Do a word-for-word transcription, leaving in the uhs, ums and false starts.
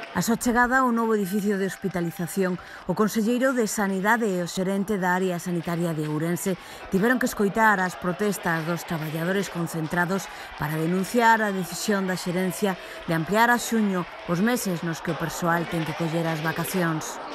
A súa chegada ao novo edificio de hospitalización, o conselleiro de Sanidade e o xerente da área sanitaria de Ourense tiveron que escoitar as protestas dos traballadores concentrados para denunciar a decisión da xerencia de ampliar a xuño os meses nos que o persoal ten que coller as vacacións.